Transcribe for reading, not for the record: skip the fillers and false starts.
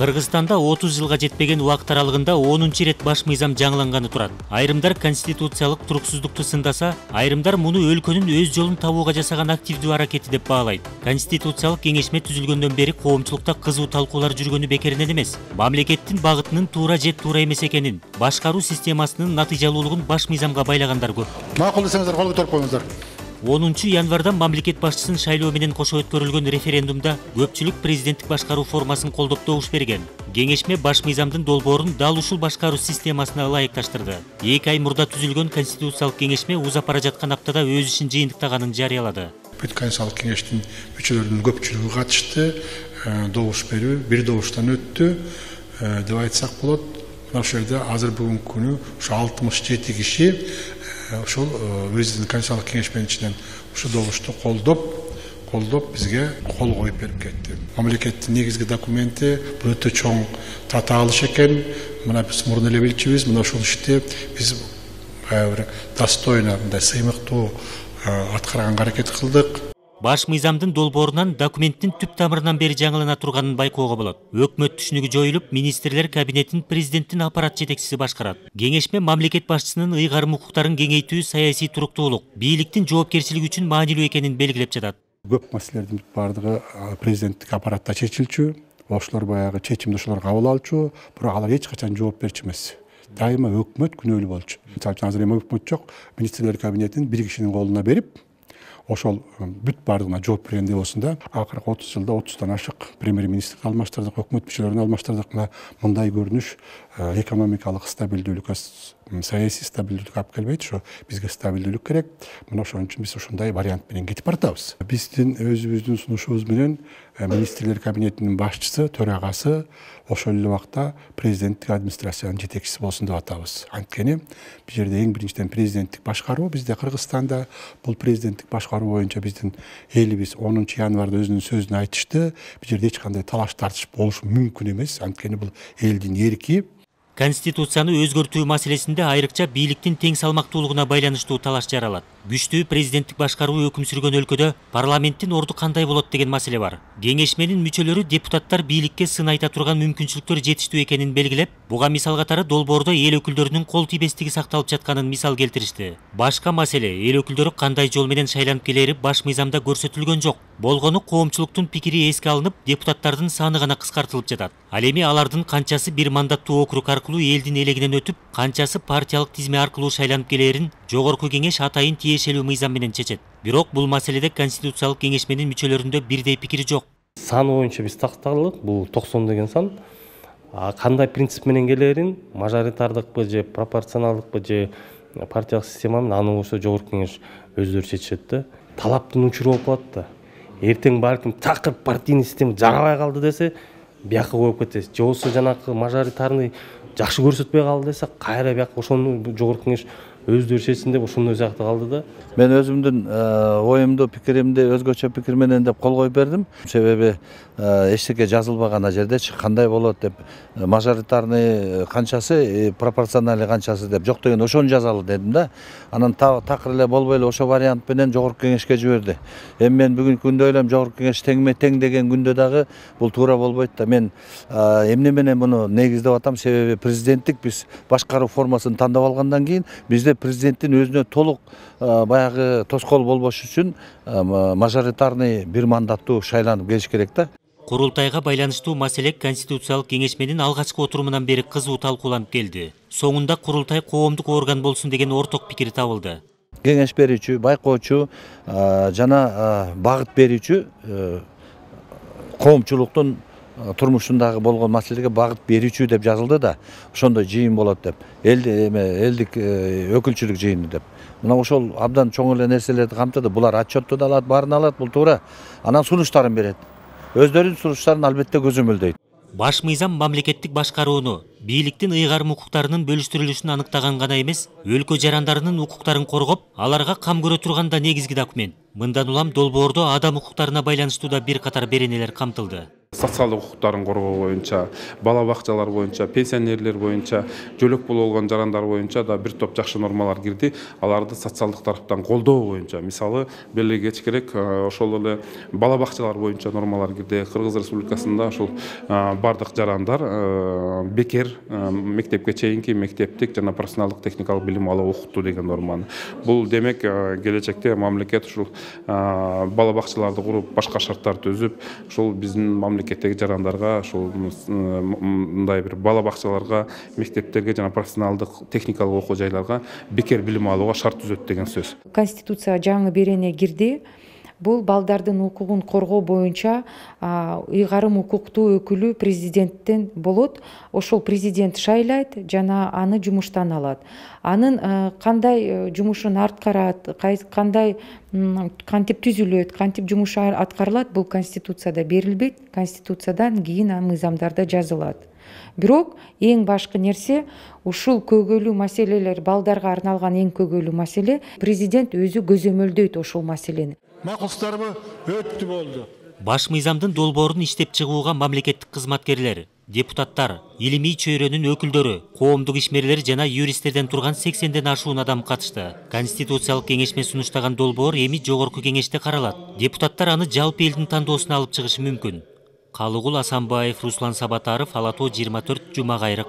Кыргызстанда 30 жылга жетпеген убакыт аралыгында 10-чу ирет баш мыйзам жаңыланганы турат. Айрымдар конституциялык туруксуздукту сындаса, айрымдар муну өлкөнүн өз жолун табууга жасаган активдүү аракети деп баалайт. Конституциялык кеңешме түзүлгөндөн бери коомчулукта кызуу талкуулар жүргөнү бекеринен эмес. Мамлекеттин багытынын туура же туура эмес экенин, башкаруу системасынын натыйжалуулугун баш мыйзамга байлагандар көп. Макул десеңиздер, кол көтөрүп коюңуздар. 10 январда мамлекет башчысын шайлоо менен кошо өткөрүлгөн референдумда көпчүлүк президенттик башкаруу формасын колдоп добуш берген. Кеңешме баш мыйзамдын долбоорун дал ушул башкаруу системасына ылайыкташтырды. 2 ай мурда түзүлгөн конституциялык кеңешме узап бара жаткан аптада өз ишин жыйынтыктаганын жарыялады. Бүт конституциялык кеңештин мүчөлөрүнүн көпчүлүгү катышты, добуш берүү бир добуштан өттү деп айтсак болот. Мына ошол жерде азыр бүгүнкү күнү ушу 67 киши ошол өзүнүн конституциялык кеңешменин ичинен ушу добушту колдоп бизге кол коюп берип кетти. Мамлекеттин негизги документи бул өтө чоң татаалыш экен. Мына биз мурун эле билчүбүз, мына ушул ишти биз бир достойно, мындай сыймыктуу аткарганга аракет кылдык. Баш мыйзамдын долбоорунан документтин түп тамырынан бери жаңылана турганын байкоого болот. Өкмөт түшүнүгү жоюлуп, министрлер кабинетин президенттин аппарат жетекчиси башкарат. Кеңешме мамлекет башчысынын ыйгарым укуктарын кеңейтүү, саясий туруктуулук, бийликтин жоопкерчилиги үчүн маанилүү экенин белгилеп жатат. Көп маселелердин бардыгы президенттик аппаратта чечилчү, ошолор баягы чечимди ошолор кабыл алчу, бирок алар эч качан жооп берчү эмес. Дайыма өкмөт күнөөлүү болчу. Мисалы үчүн азыр эми өкмөт жок, министрлер кабинетин бир кишинин колуна берип, ошол бүт бардыгына жооп бергендей болсун да. Акыркы 30 жылда 30тан ашык премьер-министрди алмаштырдык, өкмөт мүчөлөрүн алмаштырдык. Мындай көрүнүш экономикалык стабилдүүлүккө, саясий стабилдүүлүккө алып келбейт. Ошо бизге стабилдүүлүк керек. Мына ошон үчүн биз ушундай вариант менен кетип баратабыз. Биздин өзүбүздүн сунушубуз менен министрлер кабинетинин башчысы, төрагасы ошол эле убакта президенттик администрациянын жетекчиси болсун деп атабыз. Анткени бул жерде эң биринчиден президенттик башкаруу, бизде Кыргызстанда бул президенттик башкаруу боюнча биздин элибиз 10 январда өзүнүн сөзүн айтышты. Бул жерде эч кандай талаш тартыш болушу мүмкүн эмес. Анткени бул элдин эрки. Конституцияны өзгөртүү маселесинде айрыкча бийликтин тең салмактуулугуна байланыштуу талаш жаралат. Күчтүү президенттик башкаруу өкүм сүргөн өлкөдө парламенттин орду кандай болот деген маселе бар. Кеңешменин мүчөлөрү депутаттар бийликке сын айта турган мүмкүнчүлүктөр жетиштүү экенин белгилеп, буга мисал катары долбоордо эл өкүлдөрүнүн кол тийбестиги сакталып жатканын мисал келтиришти. Башка маселе эл өкүлдөрү кандай жол менен шайланып келери баш мыйзамда көрсөтүлгөн жок. Болгону коомчулуктун пикири эске алынып, депутаттардын саны гана кыскартылып жатат. Ал эми алардын канчасы бир мандаттуу округ аркылуу элдин элегинен өтүп, канчасы партиялык тизме аркылуу шайланып келерин жогорку кеңеш атайын тиешелүү мыйзам менен чечет. Бирок бул маселеде конституциялык кеңешменин мүчөлөрүндө бирдей пикир жок. Сан боюнча биз тактадык, бул 90 деген сан. Кандай принцип менен келерин, мажоритардыкпы же пропорционалдыкпы же партиялык система менен аны болсо жогорку кеңеш өздөрү чечишет да. Талаптын учуру болуп калат да. Эртең балким такыр партийный система жарабай калды десе, бияка коюп кетесиз. Же болсо жанакы мажоритарный жакшы көрсөтпөй калды десе, кайра бияка ошону жогорку кеңеш өздөрү чечсин деп ошондой жакта калды да. Мен өзүмдүн оюмду, пикиримди өзгөчө пикир менен деп кол коюп бердим. Себеби эчтеке жазылбаган жердечи кандай болот деп, мажоритарный канчасы, пропорциональный канчасы деп жок деген ошону жазалы дедим да. Анан такыр эле болбой эле ошо вариант менен жогорку кеңешке жиберди. Эми мен бүгүнкү күндө ойлойм, жогорку кеңеш тең деген күндө дагы бул туура болбойт да. Мен эмне менен муну негиздеп атам, себеби президенттик биз башкаруу формасын тандап алгандан кийин бизде президенттин өзүнө толук баягы тоскоол болбош үчүн мажоритарный бир мандаттуу шайланып келиш керек да. Курултайга байланыштуу маселе конституциялык кеңешменин алгачкы отурумунан бери кызуу талкууланып келди. Соңунда курултай коомдук орган болсун деген орток пикир табылды. Кеңеш берүүчү, байкоочу жана багыт берүүчү коомчулуктун турмушундагы болгон маселеге багыт берүүчү деп жазылды да. Ошондой жыйын болот деп. Элдик өкүлчүлүк жыйыны деп. Мына ошол абдан чоң эле нерселерди камтыды. Булар отчетту да алат, баарын алат, бул туура. Анан сунуштарын берет. Өздөрүнүн сунуштарын албетте көзөмөлдөйт. Баш мыйзам мамлекеттик башкарууну, бийликтин ыйгарым укуктарынын бөлүштүрүлүшүн аныктаган гана эмес, өлкө жарандарынын укуктарын коргоп, аларга кам көрө турган да негизги документ. Мындан улам долбоордо адам укуктарына байланыштуу да бир катар беренелер камтылды. Социалдык укуктарын коргоо боюнча, бала бакчалар боюнча, пенсионерлер боюнча, жөлөк болуп алган жарандар боюнча да бир топ жакшы нормалар кирди. Аларды социалдык тараптан колдоо боюнча, мисалы, белгилегеч керек, ошол эле бала бакчалар боюнча нормалар кирди. Кыргыз Республикасында ошол бардык жарандар бекер мектепке чейинки мектептик жана профессионалдык техникалык билим алуу окутуу деген норманы. Бул демек келечекте мамлекет ушул бала бакчаларды куруп, башка шарттар түзүп, ушул биздин мамлекеттеги жарандарга ушул мындай бир бала бакчаларга, мектептерге жана профессионалдык техникалык окуу жайларга бекер билим алууга шарт түзөт деген сөз. Конституцияга жаңы берене кирди. Бул балдардын укугун коргоо боюнча ыйгарым укуктуу өкүлү президенттен болот. Ошол президент шайлайт жана аны жумуштан алат. Анын кандай жумушун аткарат, кандай кантип түзүлөт, кантип жумуш аткарылат, бул Конституцияда берилбейт. Конституциядан кийин мыйзамдарда жазылат. Бирок эң башкы нерсе ушул көйгөйлүү маселелер, балдарга арналган эң көйгөйлүү маселе, президент өзү көзөмөлдөйт ошол маселени. Макулдарбы өттү болду. Баш мыйзамдын долбоорун иштеп чыгууга мамлекеттик кызматкерлер, депутаттар, илимий чөйрөнүн өкүлдөрү, коомдук ишмерлер жана юристтерден турган 80ден ашуун адам катышты. Конституциялык кеңешме сунуштаган долбоор эми жогорку кеңеште каралат. Депутаттар аны жалпы элдин тандоосуна алып чыгышы мүмкүн. Калыгул Асанбаев, Руслан Сабатаров, Ала Тоо 24, Жума Кайрык.